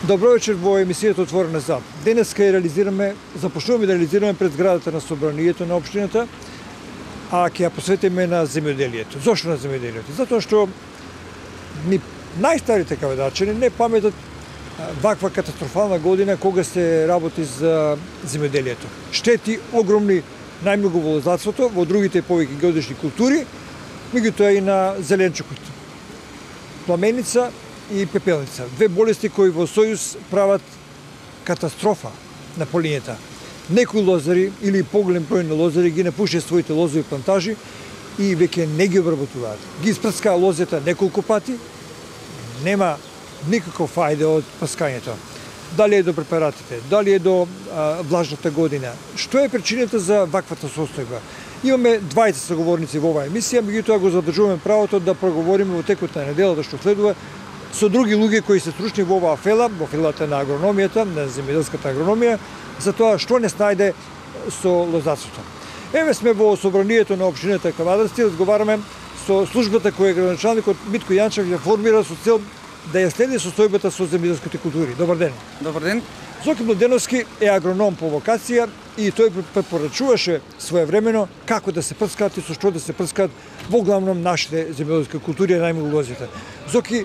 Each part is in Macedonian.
Добро вечер во емисијата Отворена за. Денеска започнуваме да реализираме пред зградата на собранието на општината, а ќе ја посветиме на земјоделието. Зошто на земјоделието? Затоа што ни најстарите каведачани не паметат ваква катастрофална година кога се работи за земјоделието. Штети огромни најмногу во лозарството, во другите повеќе годишни култури, меѓутоа и на зеленчукот. Пламеница и пепелница. Две болести кои во сојуз прават катастрофа на полињата. Некои лозари или поголем број на лозари ги напушија своите лозови плантажи и веќе не ги обработуваат. Ги испрскаа лозета неколку пати, нема никаков фајде од прскањето. Дали е до препаратите, дали е до влажната година. Што е причината за ваквата состојба? Имаме двајца соговорници во оваа емисија, меѓутоа го задржуваме правото да проговориме во текот на неделата што следува со други луѓе кои се стручни во оваа фела, во фелата на агрономијата, на земјоделската агрономија, за тоа што не снајде со лозарството. Еве сме во собранието на општината Кавадарци, разговараме со службата која градоначалникот Митко Јанчев ја формира со цел да ја следи состојбата со земјоделските култури. Добар ден. Добар ден. Зоки Младеновски е агроном по вокација и тој препорачуваше своевремено како да се прскаат и со што да се прскаат во главном нашите земјоделски култури, најмногу лозите. Зоки,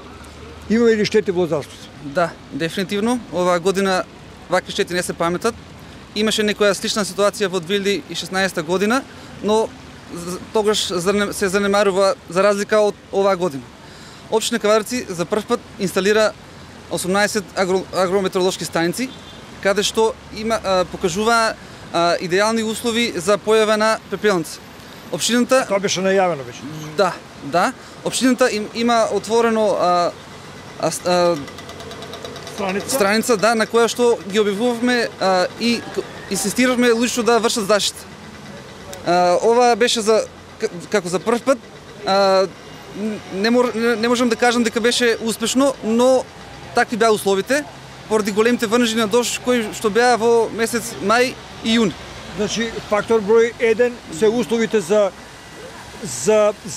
имаме ли штети во лозарството? Да, дефинитивно. Оваа година вакви штети не се паметат. Имаше некоја слична ситуација во 2016 година, но тогаш се занемарува за разлика од оваа година. Општина Кавадарци за прв пат инсталира 18 агрометеоролошки станици, каде што покажува идеални услови за појава на пепелница. Општината Тоа беше најавено беше. Да. Општината има отворено страница, на која што ги објавувавме и инсистиравме лично да вршат заштита. Ова беше како за прв пат. Не можам да кажам дека беше успешно, но такви беа условите, поради големите врнежи на дожд кои што беа во месец мај и јуни. Значи, фактор број 1 се условите за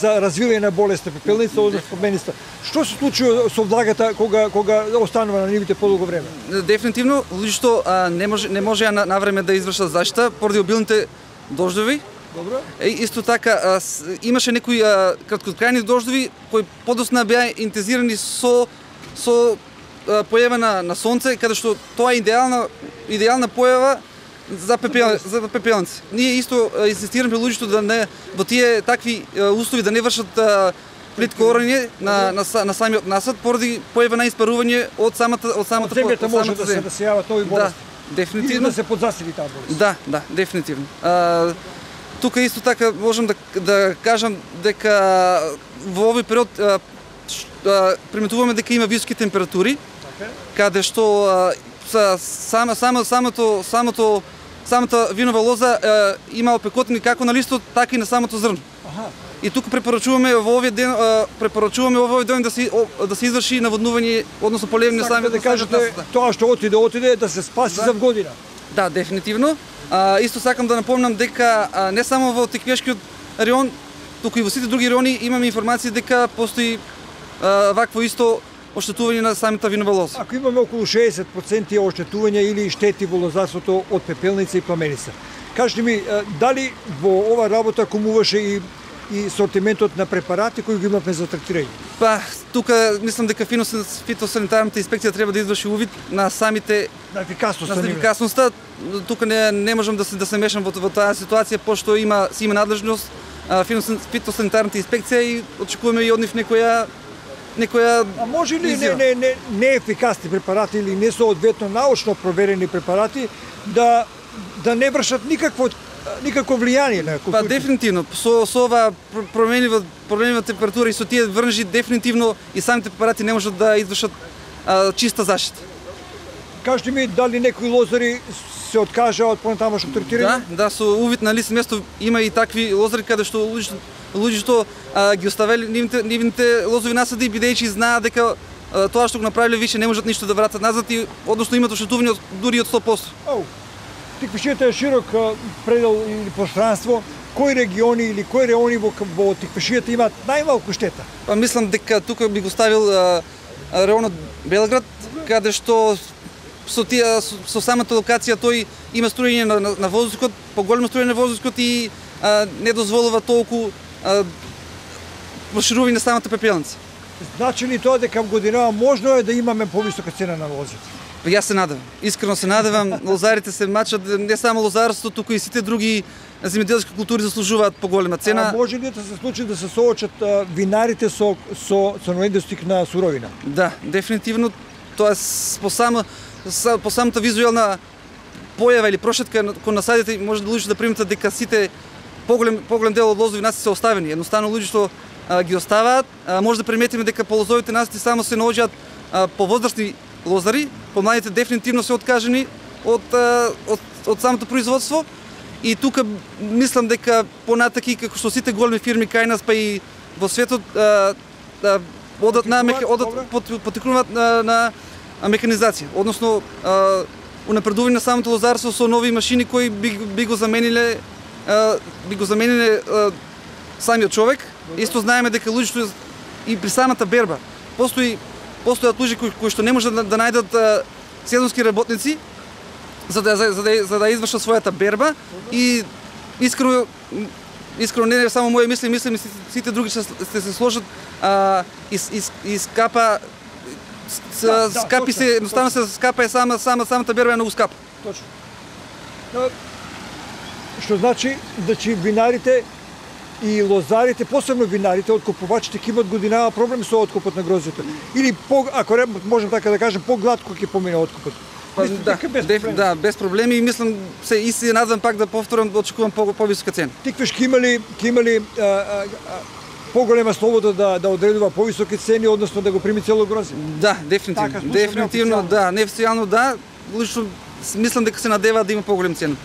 развивање на болест на пепелница, односно пламеница. Што се случува со влагата кога останува на нивите подолго време? Дефинитивно, луѓето не можеа на време да извршат заштита поради обилните дождови. Добро. Исто така имаше некои краткотрајни дождови кои подосна беа интензирани со појава на сонце, каде што тоа е идеална појава за пепелници. Ние исто инсистираме луѓето да не во тие такви услови да не вршат плитко орање на самиот насад поради појава на испарување од самата земјата може да се јават овој болести. Да, дефинитивно. И да се подзасили таа болест. Да, дефинитивно. Тука исто така можам да кажам дека во овој период приметуваме дека има високи температури, каде што самата винова лоза има опекотини како на листот, така и на самото зрно. И тука препорачуваме во овој ден да се изврши наводнување, односно поливање на самиот да кажете тоа што отиде да се спаси за година. Да, дефинитивно. Исто сакам да напомнам дека не само во Теквешкиот район, туку и во сите други райони имаме информација дека постои вакво исто оштетување на самата винова лоза. Ако имаме околу 60% оштетување или штети во лозарството од пепелница и пламеница, кажете ми, дали во ова работа комуваше и сортиментот на препарати кои ги имавме за третирање? Па, тука мислам дека фитосанитарната инспекција треба да изврши увид на самите на ефикасноста. Тука не можам да се мешам во таа ситуација, пошто има надлежност фитосанитарната инспекција и очекуваме и од нив некоја А може ли неефикасни препарати или несоодветно научно проверени препарати да не вршат никакво влијание на културите? Па дефинитивно, со ова променлива температура и со тие врнежи дефинитивно и самите препарати не можат да извршат чиста заштита. Кажете ми, дали некои лозари се откажаа од понатамошно третирање? Да, со увид на лице место има и такви лозари каде што луѓето ги оставели нивните лозови насади, бидејќи знаат дека тоа што го направиле више не можат ништо да вратат назад и односно имат оштетување дури од 100%. Теквешијата е широк предел или пространство. Кои региони или кои райони во Теквешијата имаат најмалку штета? Па мислам дека тука би го ставил районот Белград, каде што со самата локација тој има струјење на воздухот, поголемо струјење на воздухот и не дозволува толку проширување на самата пепелница. Значи ли тоа дека годинава можно е да имаме повисока цена на лозите? Јас се надевам, искрено се надевам, лозарите се мачат, не само лозарството, туку и сите други земјоделски култури заслужуваат поголема цена. А може ли да се случи да се соочат винарите со недостиг на суровина? Да, дефинитивно тоа е по самата визуелна појава или прошетка кон насадите може да луѓето да приметат дека сите поголем дел од лозови насади се оставени. Едноставно луѓето ги оставаат. Може да приметиме дека по лозовите насади само се наоѓаат повозрастни лозари, помладите дефинитивно се откажени од самото производство. И тука мислам дека понатаки како што сите големи фирми кај нас па и во светот потекнуваат на механизација, односно унапредување на самото лозарство со нови машини кои би го замениле самиот човек. Исто знаеме дека луѓето и при самата берба постојат луѓе кои што не можат да најдат сезонски работници за да извршат својата берба и искрено не само моје мисли и сите други ще се сложат и скапа скапи се, едноставно се скапа е самата берба е многу скапа. Точно. Што значи винарите и лозарите, посебно винарите, откупувачите ќе имат годинава проблеми со откупот на грозјето. Или ако можем така да кажем, погладко ќе помине откупот. Да, без проблеми и мислам и се надевам пак да повторам, да очекувам повисока цена. Тиквеш ќе имали поголема слобода да одредува повисоки цени, односно да го прими цело грозје? Да, дефинитивно, да, неофицијално да. Лично мислам дека се надеваат да има поголем цена.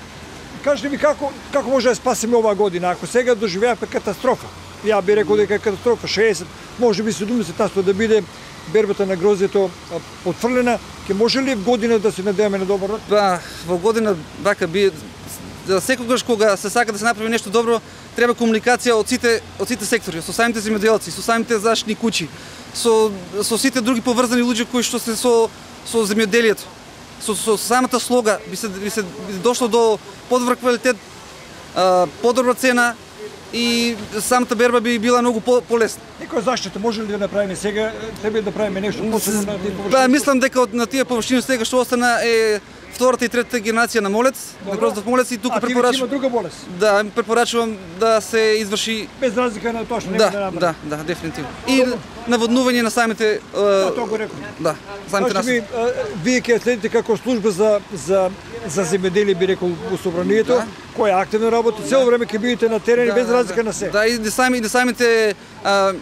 Кажете ми како може да спасиме оваа година, ако сега доживеавме катастрофа? Ја би рекол дека е катастрофа, 60, може би 70% да биде бербата на грозјето отфрлена, ќе може ли година да се надеваме на добар род? Па, во година вака би секогаш кога се сака да се направи нешто добро, треба комуникација од сите сектори, со самите земјоделци, со самите заштитни куќи, со сите други поврзани луѓе кои што се со земјоделието. Со самата слога би се дошло до подобар квалитет, подобра цена и самата берба би била многу полесна. Некоја заштита може ли да направиме сега? Треба да правиме нешто посебно на тие површини? Да, мислам дека на тие површини сега што остана е втората и третата генерација на молец, на гроздов молец и тука препорачувам. Има друга болест? Да, препорачувам да се изврши без разлика на точно нема да направи. Да, дефинитивно. И наводнување на самите тоа го реков. Да, самите насади. Вие ќе следите како служба за земјоделие би рекол во собранието, која активно работи, цело време ќе бидете на терен без разлика на се. Да, и самите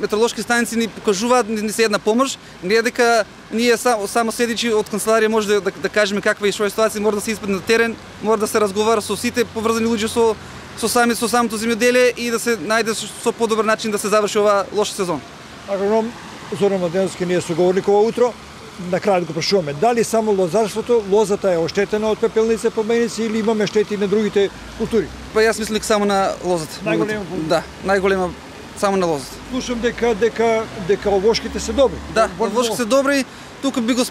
метеоролошки станици ни покажуваат ни се една помош, не е дека ние само седичи од канцеларија може да кажеме каква е ситуација, мора да се испади на терен, мора да се разговара со сите поврзани луѓе со самото земјоделие и да се најде со подобар начин да се заврши ова лош сезон. Агроном Зоран Младеновски ние соговорник ова утро. На крајот го прашуваме, дали само лозарството, лозата е оштетена од пепелници, поменици или имаме штети на другите култури? Па јас мислам дека само на лозата. Најголема? Да, најголема само на лозата. Слушам дека овошките се добри. Да, овошките се добри. Тука би го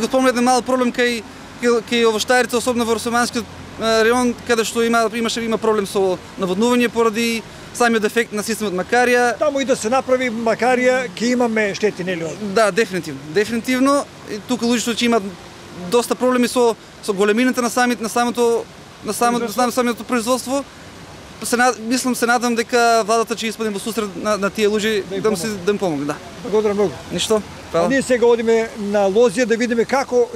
спомнал еден мал проблем кај овоштарите, особено во Росоманскиот район, каде што има проблем со наводнување поради самиот дефект на системот Макарија. Таму и да се направи Макарија, ќе имаме штети, нели? Да, дефинитивно. И тука луѓето ќе имаат доста проблеми со големината на самото производство. Мислам, се надам дека владата ќе испадне во сусрет на тие луѓе да им помогне, да. Благодарам многу. Ништо. Фала. Ние сега одиме на лозија да видиме како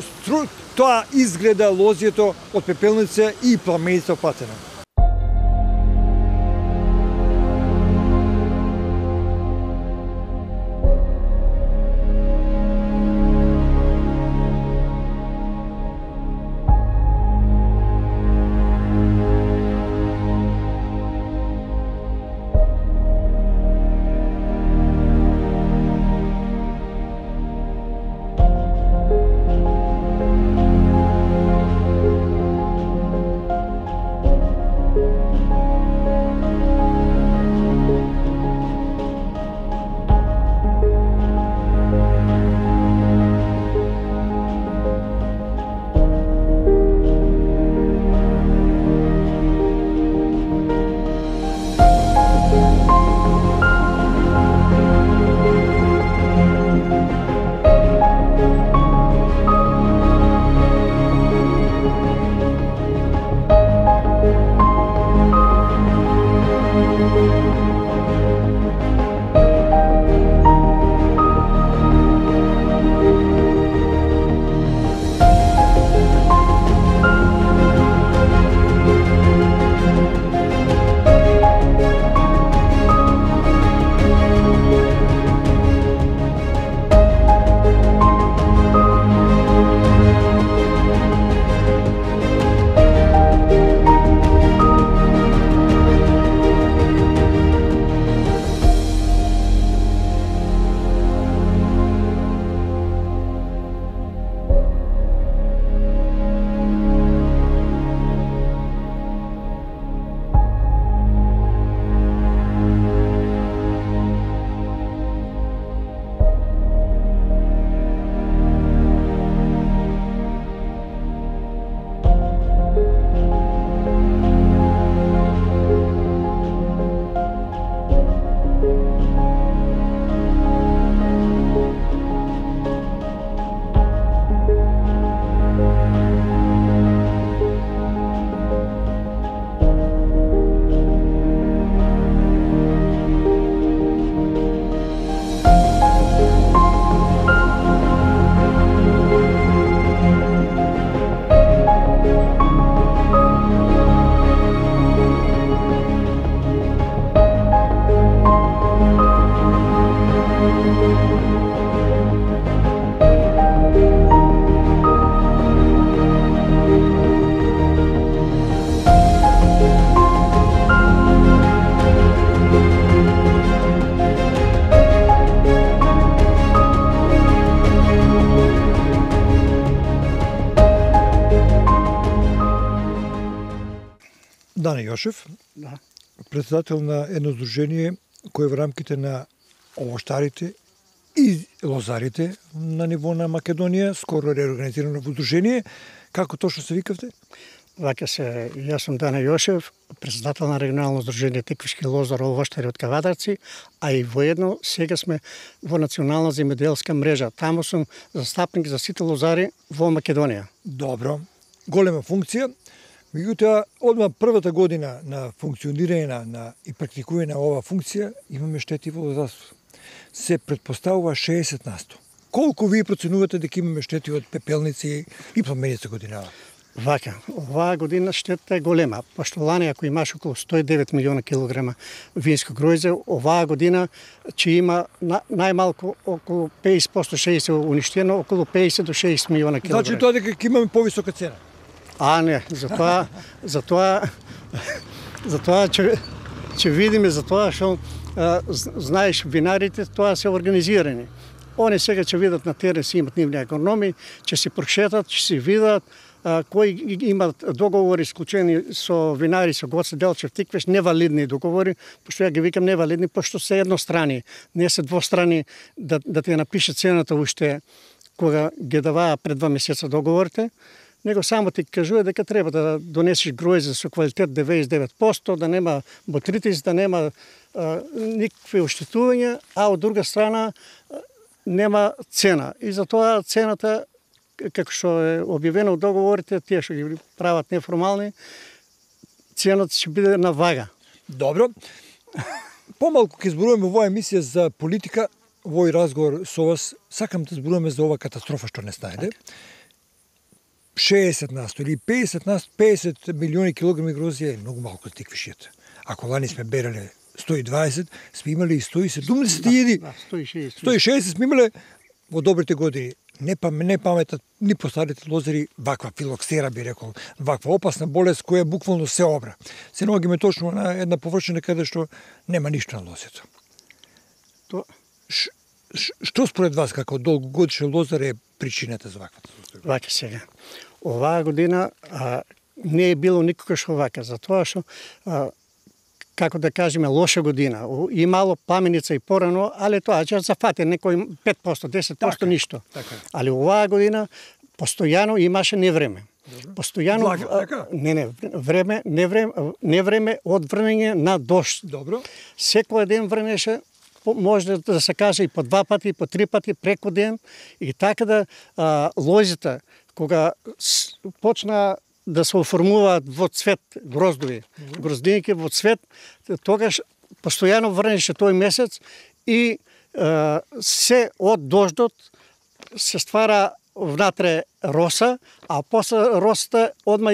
тоа изгледа лозјето од пепелница и пламеница опатена. Дане Јошев, Да. председател на едно здружение кое во рамките на овоштарите и лозарите на ниво на Македонија, скоро реорганизирано во здружение. Како точно се викавте? Вака се, јас сум Дане Јошев, председател на регионално здружение Теквишки лозар овоштари од Кавадарци, а и воедно сега сме во национална земјоделска мрежа. Таму сум застапник за сите лозари во Македонија. Добро, голема функција. Меѓутоа, одма првата година на функционирање и практикување на оваа функција имаме штети во лозарството. Се предпоставува 60%. Колку вие проценувате дека имаме штети од пепелници и пламеница годинава? Вака, оваа година штета е голема, пошто лани ако имаш околу 109 милиона килограма винско гројзе, оваа година ќе има најмалку околу 50% ще се уништено, околу 50 до 60 милиона килограма. Значи тоа дека ќе имаме повисока цена? А не, затоа ќе видиме, затоа што знаеш винарите тоа се организирани. Они сега ќе видат на терен, си имат нивни агрономи, ќе се прошетат, ќе се видат кои имат договори склучени со винари, со Гоце Делчев, Тиквеш, невалидни договори, пошто ја ги викам невалидни, пошто се еднострани, не се двострани да ти напише цената уште кога ги даваа пред 2 месеца договорите, него само ти кажува дека треба да донесеш гројзе со квалитет 99%, да нема ботритис, да нема никакви оштетувања, а од друга страна нема цена. И затоа цената, како што е објавено од договорите, тие што ги прават неформални, цената ќе биде на вага. Добро. Помалку ќе зборуваме во оваа емисија за политика, во овој разговор со вас, сакам да зборуваме за оваа катастрофа што не најде. 60% или 50 милиони килограми грозје е многу малку за тиквишијата. Ако лани сме берале 120, сме имале и 170.000. 160 сме имале во добрите години. Не паметат ни постарите лозари ваква филоксера, би рекол, ваква опасна болест која буквално се обра. Се наоѓаме точно на една површина каде што нема ништо на лозето. Што според вас како долгогодишен лозар е причината за ваквата состојба? Вака сега. Оваа година не е било никогаш овака, затоа што како да кажеме, лоша година. Имало пламеница и порано, али тоа ќе зафати некој 5%, 10%, ништо. Така. Али оваа година постојано имаше невреме. Постојано невреме од врнење на дожд. Добро. Секој ден врнеше, може да се каже и по 2 пати, по 3 пати преку ден, и така да лозите кога почна да се оформуваат во цвет гроздови, гроздинки во цвет, тогаш постојано врнеше тој месец и се од дождот се ствара внатре роса, а после росата одма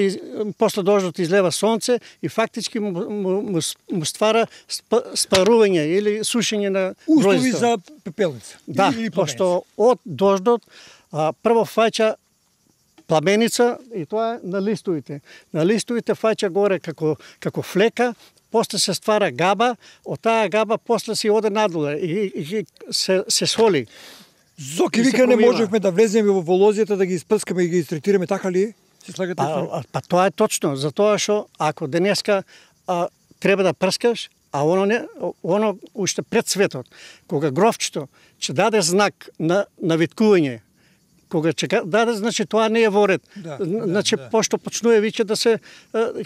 после дождот излева сонце и фактички му ствара спарување или сушење на услови гроздите. за пепелница. Да, пошто од дождот прво фаќа пламеница и тоа на листовите. На листовите фаќа горе како флека, после се ствара габа, од таа габа после се оде надоле и се соли. Зоки вика не можевме да влеземе во лозјата, да ги испрскаме и ги третираме, така ли е? Се слагате? Па тоа е точно, затоа што ако денеска треба да прскаш, а оно уште пред светот, кога гровчето ќе даде знак на виткување, кога ќе даде, значи тоа не е во ред. Значи пошто почнува виќе да се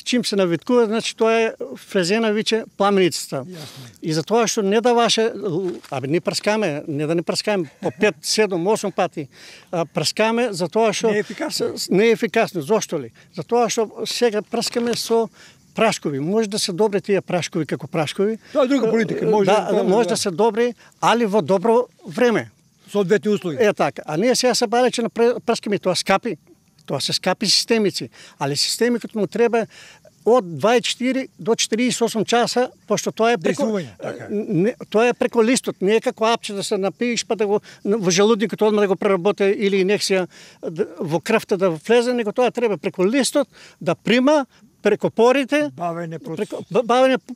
чим се навиткува, значи тоа е влезена виќе пламеницата. И затоа што не даваше, не прскаме, не да не прскаме по 5, 7, 8 пати, прскаме затоа што не е ефикасно. Зошто ли? Затоа што сега прскаме со прашкови. Може да се добри тие прашкови како прашкови. Тоа е друга политика. Може да се добри, али во добро време. Соодветни услови. Е така. А ние сега се балече на прскаме, тоа скапи. Тоа се скапи системици. Али системи като му треба од 24 до 48 часа, пошто тоа е тоа е преко листот, не е како апче да се напиеш па да го во желудникот одма да го преработи или инекција во крвта да влезе, него тоа треба преко листот да прима, преку порите, бавење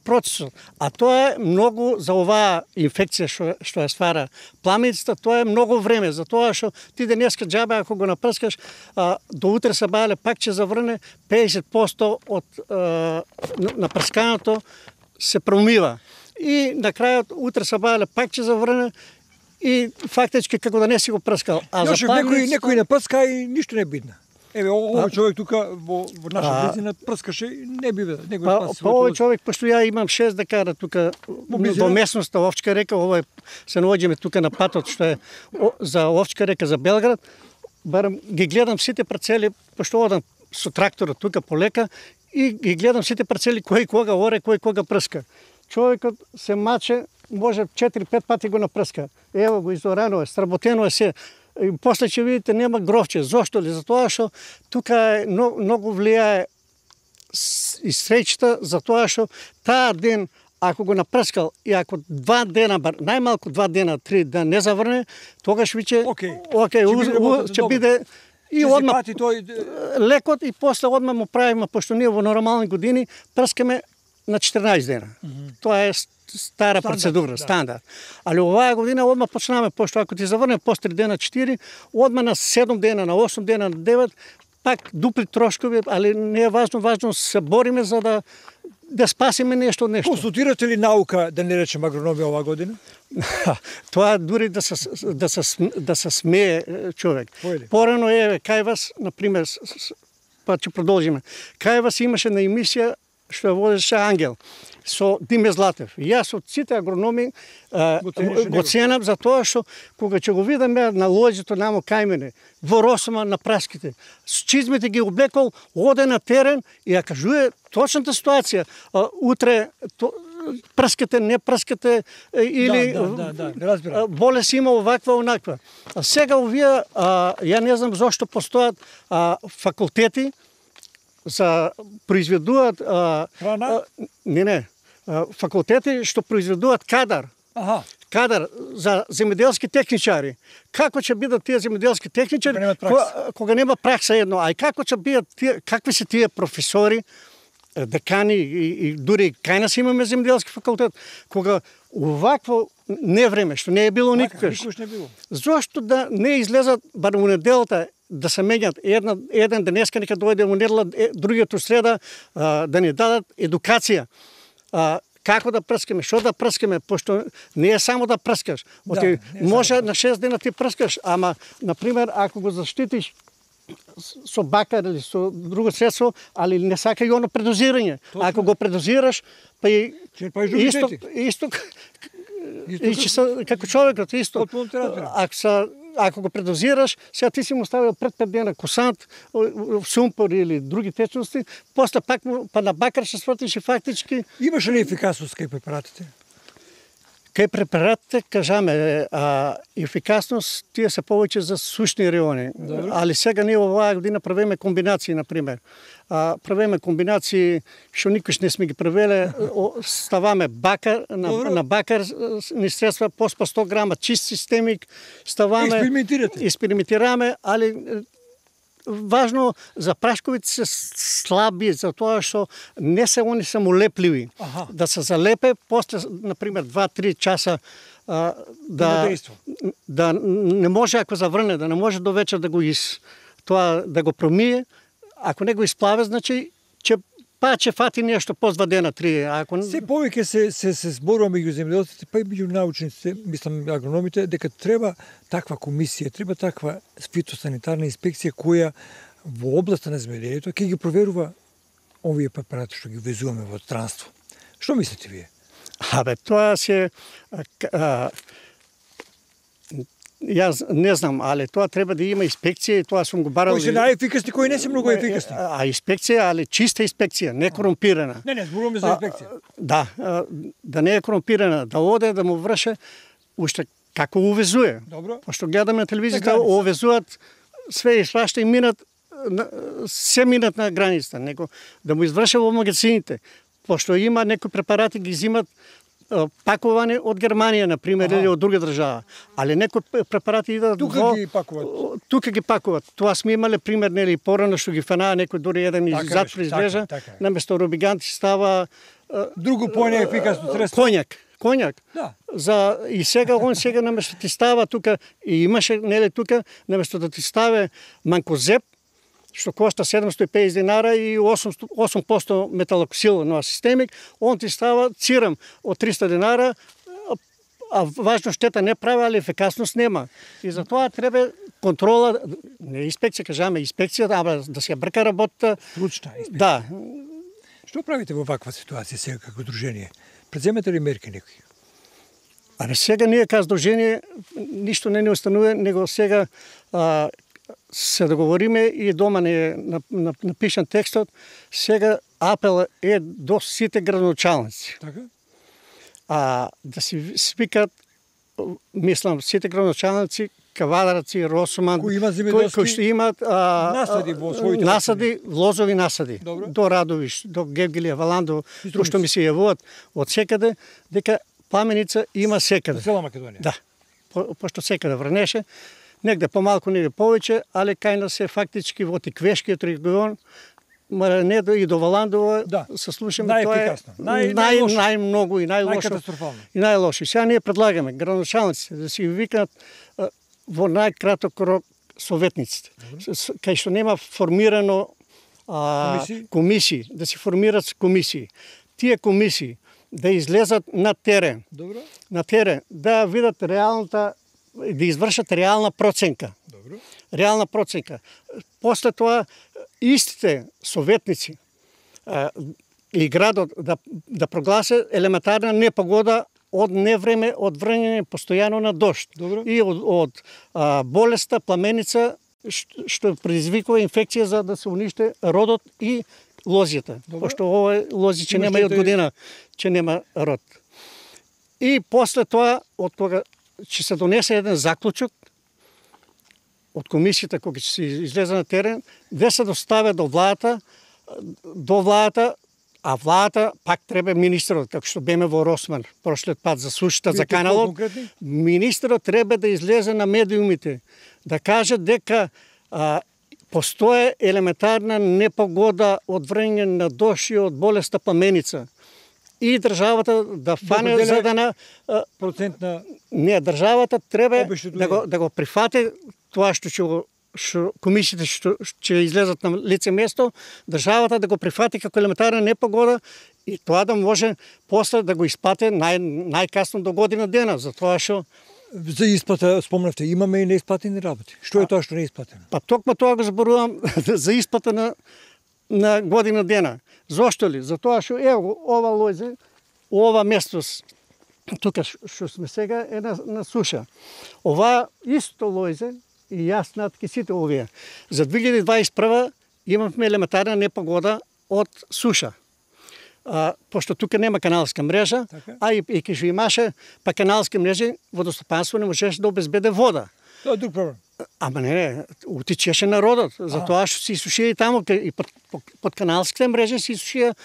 процесот. А тоа е многу за оваа инфекција што ја ствара пламеницата, тоа е многу време, затоа што ти денеска џабе ако го напрскаш, до утре се бајле пак ќе заврне 50% од напрсканото се промива. И на крајот утре се бајле пак ќе заврне и фактички како да не си го прскал. А за некој не прска и ништо не бидна. Еве, овој човек тука во наша близина прскаше и не би некој спаси. Овој човек, пошто ја имам 6 декара тука во местноста Овчка река, овој се наоѓаме тука на патот што е за Овчка река за Белград, барем ги гледам сите парцели, пошто одам со тракторот тука полека и ги гледам сите парцели кој кога оре, кој кога прска. Човекот се маче, може 4-5 пати го напрска. Ево го изорано е, сработено е се. И после ќе видите нема гровче. Зошто ли? Затоа што тука е многу влијае и среќата, затоа што таа ден ако го напрскал и ако 2 дена, најмалку 2 дена, 3 дена не заврне, тогаш виќе ќе биде и одма лекот и после одма му правиме, пошто ние во нормални години прскаме на 14 дена. Тоа е стара процедура, стандард. Али оваа година одма почнаме, пошто ако ти заврне после 3 дена 4, одма на 7 дена, на 8 дена, на 9, пак дупли трошкови, али не е важно се бориме за да спасиме нешто. Консултирате ли наука, да не речем агрономија оваа година? Тоа дури да се смее човек. Порано е кај вас, например, па ќе продолжиме. Кај вас имаше на емисија што ја водеше Ангел со Диме Златев. И јас од сите агрономи го ценам за тоа што кога ќе го видам на лоѓето намо кај мене, во Росома на праските, с чизмите ги облекол, оде на терен и ја кажува точната ситуација. Утре прскате, не прскате или болест има оваква, онаква. А сега овие, ја не знам зошто постојат факултети за произведуваат храна? Не, факултети што произведуваат кадар. Кадар за земјоделски техничари. Како ќе бидат тие земјоделски техничари кога нема пракса едно, а и како ќе бидат тие, какви се тие професори, декани и дури кај нас имаме земјоделски факултет, кога овакво невреме што не е било никогаш. Зошто да не излезат бар у неделата да се меѓат еден денеска нека дојде во недела, другиот среда да ни дадат едукација. Како да прскаме, што да прскаме, пошто не е само да прскаш. Може на 6 дена ти прскаш, ама например ако го заштитиш со бакар или со друго средство, али не сака и оно предозирање. Ако го предозираш, па и исто како човекот исто. Ако го предозираш, сега ти си му ставил пред 5 дена косант, сумпор или други течности, после пак па на бакар ще свртиш и фактички. Имаше ли ефикасност кај препаратите? Кај препаратите, кажаме, ефикасност тие се повеќе за сушни райони. Али сега ние оваа година правиме комбинации, например. Правиме комбинации што никош не сме ги правеле, ставаме бакар, на бакар ни средства, поспа 100 грама чист системик, ставаме, експериментираме, али важно за прашковите се слаби, за тоа што не се они само лепливи. Да се залепе, после, например, 2-3 часа да не може ако заврне, да не може до вечер да го тоа да го промие. Ако не го исплаве, значи ќе фати нешто по 2 дена, 3. Се повеќе се зборува меѓу земјоделците, па и меѓу научниците, мислам агрономите, дека треба таква комисија, треба таква фитосанитарна инспекција која во областа на земјоделието ќе ги проверува овие препарати што ги везуваме во странство. Што мислите вие? Тоа се јас не знам, али тоа треба да има инспекција и тоа сум го барал. Кои се најефикасни, кои не се многу ефикасни. Инспекција, али чиста инспекција, не корумпирана. Не, зборуваме за инспекција. Да не е корумпирана, да оде да му врше уште како увезуе. Добро. Пошто гледаме на телевизијата, увезуваат све и свашта и минат на границата, него да му изврше во магазините. Пошто има некои препарати ги зимат пакувани од Германија, на пример, или од друга држава. Али некои препарати идат Тука ги пакуваат. Тука ги пакуваат. Тоа сме имале пример, нели, порано што ги фанаа некој дури еден иззад произвежа, наместо Робигант става друго поефикасно средство. Коњак. Да. И сега наместо ти става тука, и имаше, нели, тука, наместо да ти ставе манкозеп, што кошта 750 динара и 8% металоксил на системик, он ти става цирам од 300 динара, а важно штета не прави, али ефикасност нема. И затоа треба контрола, не инспекција, кажаме инспекција, да се брка работата. Случна инспекција. Да. Што правите во ваква ситуација сега како дружение? Преземете ли мерки некои? Сега ние како дружение ништо не установува, него сега се договориме и дома не е напишан текстот, сега апел е до сите градоначалници. Така? Да си свикат, мислам, сите градоначалници, кавадарци, Росоман, кои што имат насади во своите насади, лозови насади. Добро. До Радовиш, до Гевгелија, Валандо, што ми се јавуваат од секаде, дека пламеница има секаде. Цела Македонија. Да. Пошто секаде врнеше, негде помалку, негде повеќе, али кај нас е фактички во Тиквешкиот регион, не и до Валандово, да. Се слушаме, тоа е најмногу и најлошо. Најкатастрофално. И најлошо. Сега ние предлагаме градоначалниците да си викнат во најкраток рок советниците. Кај што нема формирано комисии, да си формират комисии. Тие комисии да излезат на терен. Добро. На терен, да видат реалната, да извршат реална проценка. Добро. Реална проценка. После тоа истите советници и градот да прогласе елементарна непогода од невреме, од врнење постојано на дожд. Добро. И од болеста, пламеница, што предизвикува инфекција за да се униште родот и лозјата. Пошто ова лози че нема и од година, че нема род. И после тоа, од тога, ќе се донесе еден заклучок од комисијата која ќе се излезе на терен, да се доставя до владата, а владата пак треба министерот, како што беме во Росман прошлиот пат за сушата, за каналот. Министерот треба да излезе на медиумите, да каже дека постоje елементарна непогода од врнење на дожд и од болеста пламеница. И државата да фане за да процентна. Не, државата треба да го прифати тоа што комисиите ќе излезат на лице место, државата да го прифати како елементарна непогода и тоа да може после да го исплате најкасно до година дена, затоа што За исплата спомнавте, имаме и неисплатени работи. Што е тоа што не е исплатено? Па токму тоа го зборувам за исплата на година дена. Зошто ли? Затоа што ево ова лојзе, ова местос тука што сме сега е на суша. Ова исто лојзе и јас натки сите овие. За 2021 имавме елементарна непогода од суша. Пошто тука нема каналска мрежа, и кога имаше па каналски мрежи, водостопанство не можеше да обезбеде вода. Тоа е друг проблем. Ама не, утичеше народот, затоа што се исушија и таму, и под каналските мрежи се исушија,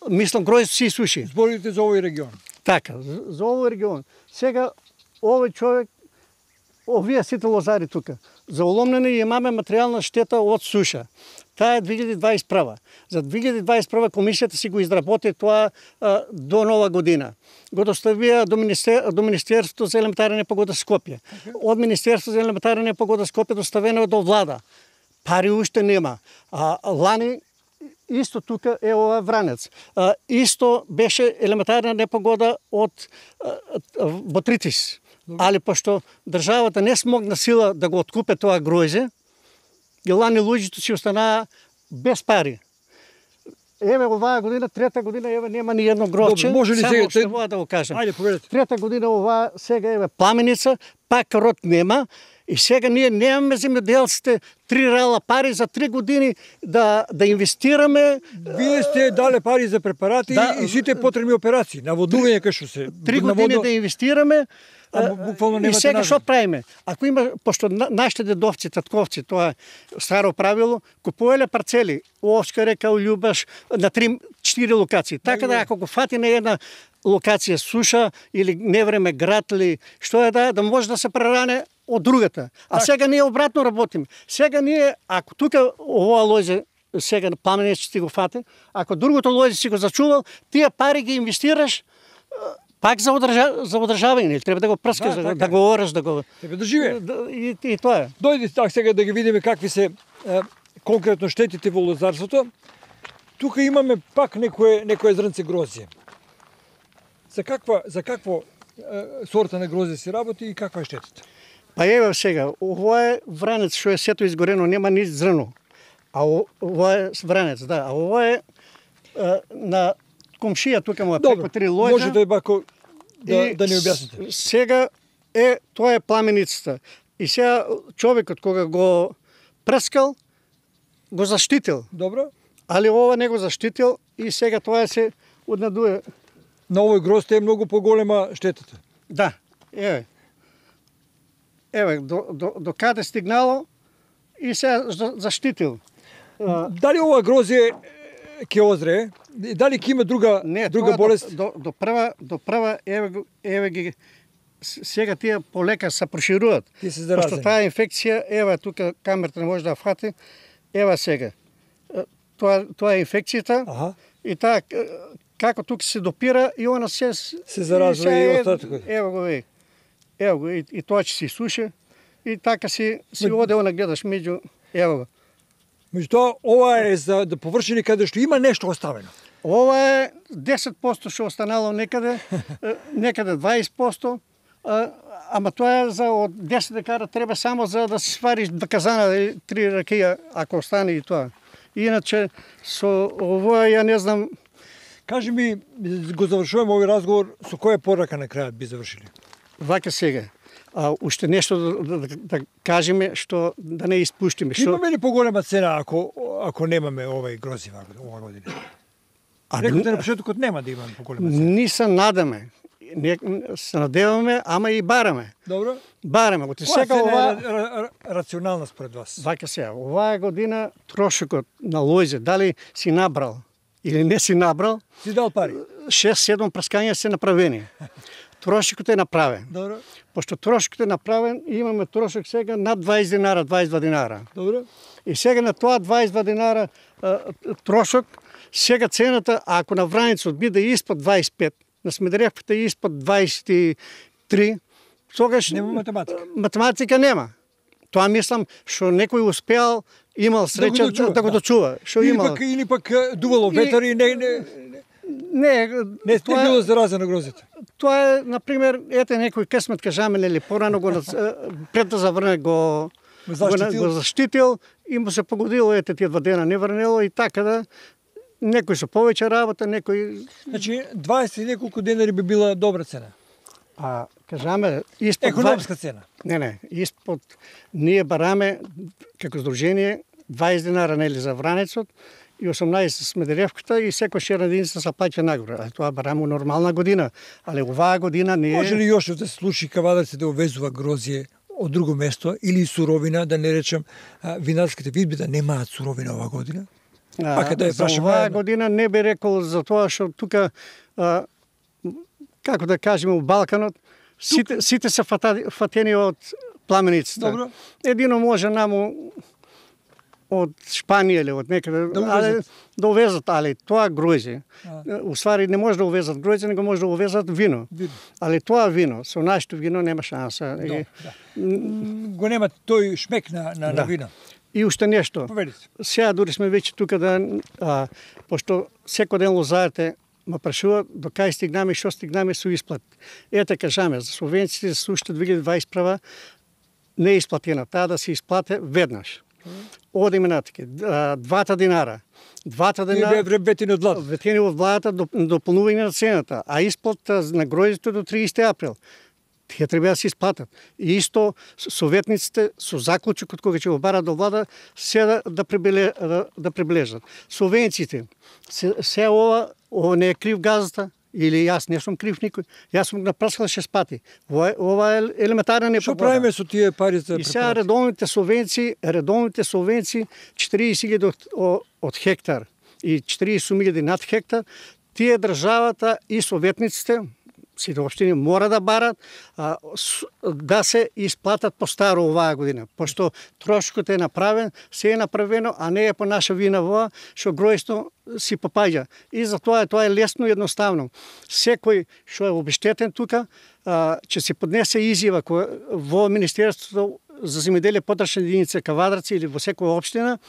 мислам, гројство се исуши. Зборите за овој регион. Така, за овој регион. Сега, овој човек, овие сите лозари тука, за уломнени имаме материјална штета од суша. Таа е 2021. За 2021 комисијата си го изработи тоа до нова година. Го доставија до Министерството за елементарна непогода Скопје. Од Министерството за елементарна непогода Скопје доставено до влада. Пари уште нема. Лани исто тука е ова Вранец. Исто беше елементарна непогода од Ботритис. Али пошто државата не смогна сила да го откупе тоа гројзе, и лани луѓето си останаа без пари. Еве оваа година, трета година, еве нема ни едно гровче. Може ли сега што да го кажам? Ајде, поведете. Трета година оваа сега еве пламеница, пак род нема. И сега ние немаме земјоделците 3 рала пари за 3 години да инвестираме. Вие сте дале пари за препарати и сите потребни операции, наводување кај што се. 3 години да инвестираме. И сега што правиме? Ако има, пошто нашите дедовци, татковци, тоа е старо правило, купувале парцели, Овчка река, Љубаш, на 3-4 локации. Така да ако го фати на една локација суша или невреме град или што е да може да се преране од другата. А сега ние обратно работиме. Сега ние, ако тука ова лозе сега пламенец ќе ти го фате, ако другото лозе си го зачувал, тие пари ги инвестираш пак за одржавање, или треба да го прскаш, да го ораш, да го... Тебе да живее. И тоа е. Дојди так сега да ги видиме какви се конкретно штетите во лозарството. Тука имаме пак некое зрнце грозје. За какво сорта на грозје се работи и каква е штетата? Па еве сега, ова е вранец што е сето изгорено, нема ни зрно. А ова е вранец, да. А ова е на комшија, тука му е преко 3 лојка. Можете бако да ни објасните. Сега тоа е пламеницата. И сега човекот кога го прскал, го заштитил. Добро. Али ова не го заштитил и сега тоа се однадуе. На овој грозд е многу поголема штетата. Да, еве. Еве, до каде стигнало и се заштитил. Дали ова грозје ќе озрее? Дали ќе има друга болест? До прва еве ги сега тие полека се прошируваат. Тие се заразени. Пошто таа инфекција, еве тука камерата не може да фати. Ева сега. Тоа е инфекцијата. Аха. И таа како тука се допира и она се заразува и остатокот. Ево го веј. Ево го и тоа ќе се суши и така си оде она гледаш меѓу ево го. Меѓутоа ова е за да површини каде што има нешто оставено. Ова е 10% што останало некаде, некаде 20%, ама тоа е за од 10 декара треба само за да се свариш 2 казана или 3 ракија ако остане и тоа. Иначе со ова ја не знам. Кажи ми, го завршуваме овој разговор, со која порака на крајот би завршили? Вака сега. Уште нешто да кажеме што да не испуштиме. Имаме ли поголема цена ако немаме овај грози ова година? Рекоте на почетокот нема да имаме поголема цена. Ни се надаме. Се надеваме, ама и бараме. Добро. Бараме. Оти сега ова рационална според вас. Вака сега, оваа година трошокот на лојзе, дали си набрал или не си набрал, си дал пари. 6-7 прскања се направени. Трошокот е направен. Добро. Пошто трошокот е направен, имаме трошок сега над 20 динара, 22 динара. Добро. И сега на тоа 22 динара трошок, сега цената, ако на Враницот биде испод 25, на Смедеревката испод 23, тогаш нема математика. Математика нема. Тоа мислам што некој успеал, имал среќа да го дочува. Што имал. Или пак дувало ветар и не тоа било заразено грозето. Тоа е, например, ете некој късмет кажаме или порано го пред да заврне го заштитил и му се погодило ете тие 2 дена не врнело и така да некој со повеќе работа, некој... Значи 20 и неколку денари би била добра цена. Кажаме испод економска цена. Не, испод ние бараме како здружение 20 динара нели за Вранецот и 18 Смедеревката и секој една единица се плаќа нагоре. А тоа бараме нормална година, али оваа година не е. Може ли још да се случи кавадарците да увезува грозје од друго место или суровина, да не речем винарските видби да немаат суровина оваа година? За оваа година не би рекол за тоа што тука како да кажеме у Балканот сите се фатени од пламеницата. Добро. Едино може наму од Шпанија или од некаде да увезат, али тоа гројзе. Уствари не може да увезат гројзе, него може да увезат вино. Али тоа вино, со нашето вино нема шанса. Го нема тој шмек на вино. И уште нешто. Сега дури сме веќе тука пошто секој ден лозарите ма прашуваат до кај стигнаме и што стигнаме со исплат. Ете кажаме, за субвенциите за уште 2021 не е исплатена, таа да се исплате веднаш. Одиме натаке, 2 динара. 2 динара ветени од владата дополнување на цената, а исплата на гројзето до 30 април. Тие треба да се исплатат. И исто советниците со заклучокот кога ќе го барат до влада се да приближат. Субвенциите, се ова не е крив газата, или јас не сум крив никој. Јас сум напраскал 6 пати. Ова е елементарна непогода. Што правиме со тие пари за препарати? И сега редовните субвенции 40.000 од хектар и 40.000 над хектар, тие државата и советниците, сите општини мора да барат да се исплатат по старо оваа година, пошто трошокот е направен, се е направено, а не е по наша вина во што гројсно си попаѓа. И затоа тоа е лесно и едноставно. Секој што е обештетен тука, ќе се поднесе изјава во Министерството за земјоделие потршна единица Кавадарци или во секоја општина,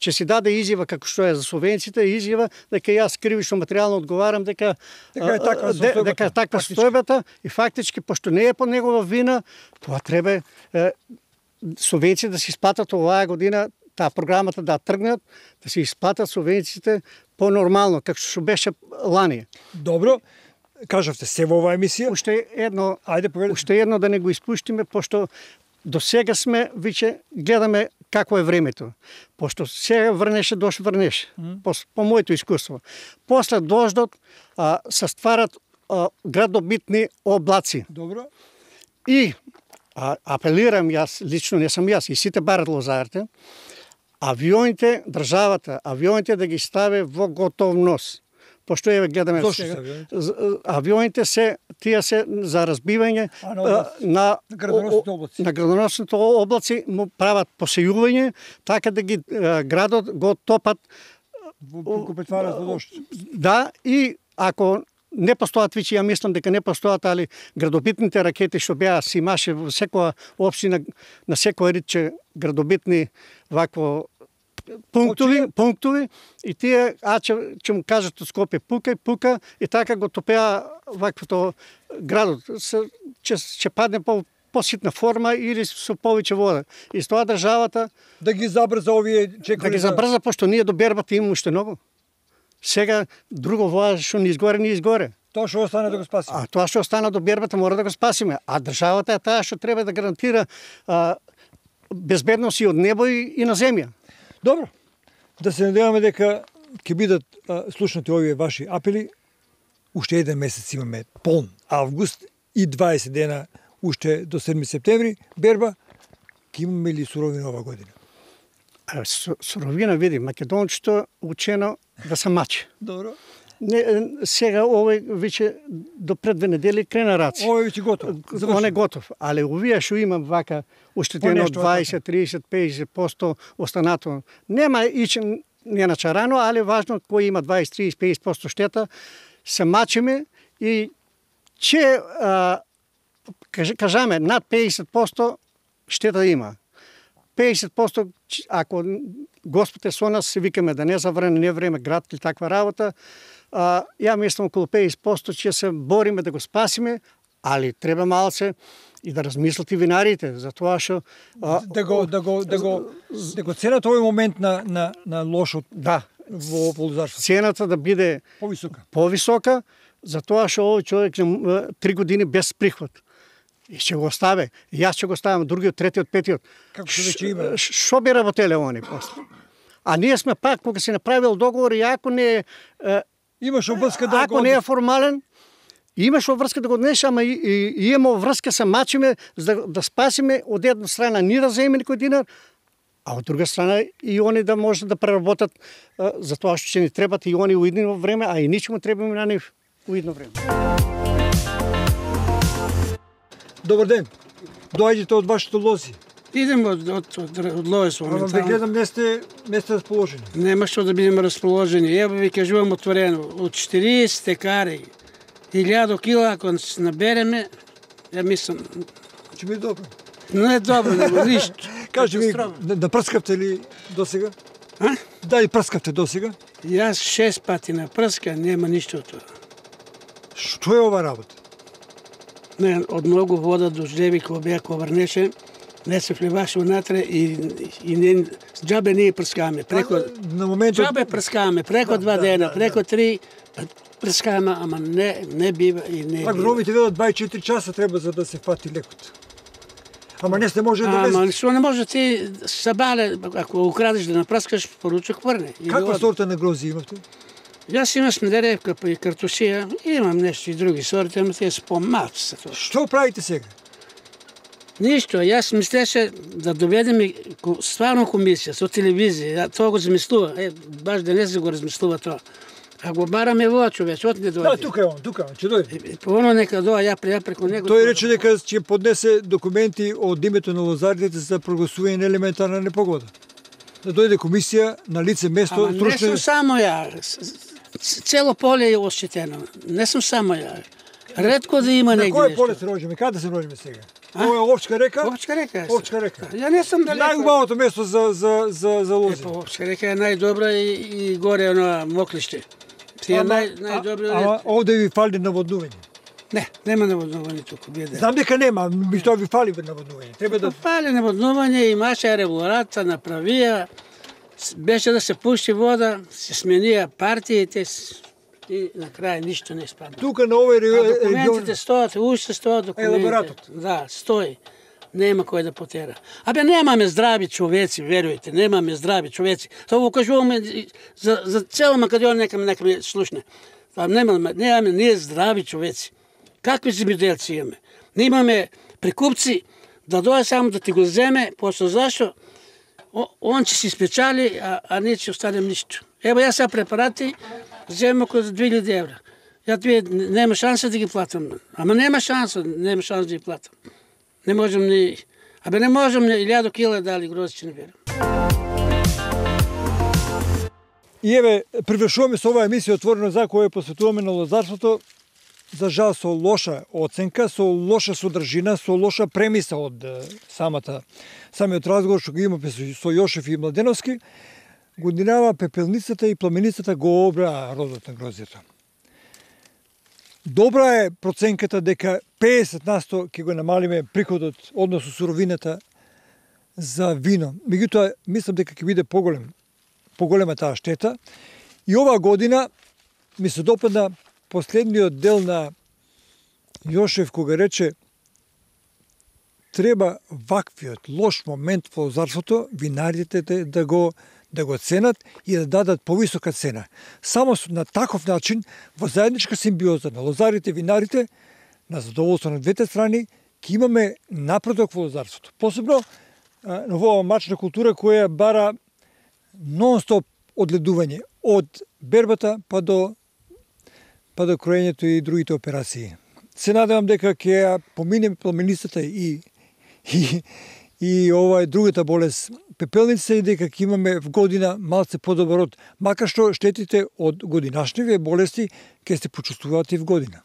ќе се даде изјава како што е за субвенциите, изјава дека јас кривично материјално одговарам дека е таква состојбата и фактички пошто не е по негова вина, тоа треба субвенциите да се исплатат оваа година, таа програмата да тргнат, да се исплатат субвенциите по-нормално, како што беше лани. Добро, кажавте се во оваа емисија. Уште едно да не го испуштиме, пошто до сега сме, виќе гледаме какво е времето. Пошто сега врнеше, врнеше. По моето искуство. После дождот се стварат градобитни облаци. Добро. И апелирам јас, лично не сум јас, и сите барат лозарите, авионите, државата, авионите да ги стави во готовност. Пошто еве гледаме сега. Авионите тие се за разбивање на градоносните облаци, му прават посејување, така да ги градот го топат во претварат во дожд. Да, и ако не постојат веќе, ја мислам дека не постојат, али градобитните ракети што беа си имаше во секоја општина, на секој ридче градобитни вакво пунктови и тие ќе му кажат од Скопје пука и така го топеа ваквото градот. Ќе падне поситна форма или со повеќе вода. И с тоа државата да ги забрза овие чекори. Да ги забрза, пошто ние до бербата имаме уште многу. Сега друго воа што не изгоре. Тоа што остане да го спасиме. А тоа што остана до бербата мора да го спасиме. А државата е таа што треба да гарантира безбедност и од небо и на земја. Добро. Да се надеваме дека ќе бидат слушнати овие ваши апели. Уште еден месец имаме полн август и 20 дена уште до 7 септември берба. Ќе имаме ли суровина ова година? Суровина, види, македончето учено да се мачи. Добро. Сега овој веќе до пред 2 недели крена раци. Овој веќе готов. Он е готов, али овие што имам вака оштетено 20, 30, 50% останато. Нема ичен не начарано, али важно кој има 20, 30, 50% штета, се мачиме и че кажаме над 50% штета има. 50% ако Господ е со нас, се викаме да не заврне не време град или таква работа. Ја мислам околу 50% ќе се бориме да го спасиме, али треба малце и да размислат и винарите за тоа што да го ценат овој момент на лошот. Да, во лозарството. Цената да биде повисока, за тоа што овој човек 3 години без приход. И ќе го оставе. Јас ќе го оставам, другиот, третиот, петиот. Како што веќе има. Што би работеле они после? А ние сме пак, кога се направил договор, и ако не имаш обврска да ако не е формален, имаш обврска да го донеш, ама и имаме обврска, се мачиме да спасиме од една страна ние да земеме некој динар, а од друга страна и они да може да преработат за тоа што ќе ни требат и они уидно време, а и ничему требаме на нив уидно време. Добар ден. Доаѓате од вашите лози. Идем од лози моментално. Ама гледам не сте расположени. Нема што да бидеме расположени. Ево ви кажувам отворено. Од 40 текари, 1000 кила, ако се набереме, ја мислам... Ќе биде добро. Не е добро, ништо. Кажи ми, да прскавте ли досега? Дали прскавте досега? Јас 6 пати на прска, нема ништо од тоа. Што е ова работа? Не, од многу вода дождеви кога беа врнеше, не се вливаше внатре и не, џабе ние прскаме. На моментот... Џабе прскаме, преко 2 дена, преко 3, прскаме, ама не бива и не бива. Агрономите велат 24 часа треба за да се фати лекот. Ама не се може да без... Ама што не може ти сабале, ако украдеш да напрскаш, поручок врне. Каква сорта на грози имате? Јас имам смедеревка и картусија, имам нешто и други сорти, ама тие се по-малци. Што правите сега? Ништо, јас мислеше да доведеме стварно комисија со телевизија, тоа го замислува, баш денес го размислува тоа. А го бараме во човек, од не дојде. тука е он, ќе дојде. Оно нека доа, ја преко него. Тој рече дека ќе поднесе документи од името на лозарите за прогласување на елементарна непогода. Да дојде комисија на лице место, Ама не сум само ја. Цело поле е ощетено. Не сум само ја. Ретко да има На негде кој нешто. поле се роѓаме? Каде се роѓаме сега? Ова е Овчка река? Овчка река. Овчка река. Ја не сум далеко. Најубавото место за лози. Овчка река е најдобра и горе оно Моклиште. Тие најдобри. Ама овде ви фали наводнување. Не, нема наводнување туку, биде. Знам дека нема, ми тоа ви фали наводнување. Треба да Фали наводнување, имаше регуларата, направија, беше да се пушти вода, се сменија партиите и на крај ништо не испадна. тука на овој регион Документите стојат, уште стојат документите. Елаборатот. Да, стои. Нема кој да потера. Абе немаме здрави човеци, верујте, немаме здрави човеци. Тоа го кажуваме за цела Македонија, нека ме слушне. Немаме ние здрави човеци. Какви земјоделци имаме? Не имаме прикупци да дојде само да ти го земе, после зашто он ќе си спечали, а ние ќе останем ништо. Ево јас сега препарати земам околу 2000 евра. Ја нема шанса да ги платам. Ама нема шанса да ги платам. Не можам ни... Абе не можам ни 1000 кила дали грозичи не берам. И еве, привршуваме со оваа емисија Отворено за која посветуваме на лозарството, за жал со лоша оценка, со лоша содржина, со лоша премиса од самиот разговор што го имаме со Јошев и Младеновски, годинава пепелницата и пламеницата го обраа родот на грозието. Добра е проценката дека 50% ќе го намалиме приходот, односно суровината за вино. Меѓутоа, мислам дека ќе биде поголема таа штета. И оваа година ми се допадна последниот дел на Јошев кога рече треба ваквиот лош момент во лозарството винарите да го ценат и да дадат повисока цена. Само на таков начин, во заедничка симбиоза на лозарите и винарите, на задоволство на двете страни, ќе имаме напредок во лозарството. Посебно на оваа мачна култура која бара нон-стоп одледување од бербата па до кроењето и другите операции. Се надевам дека ќе ја поминеме пламеницата и ова е другата болест пепелница и дека ќе имаме в година малце подобар род, макар што штетите од годинашниве болести ќе се почувствуваат и в година.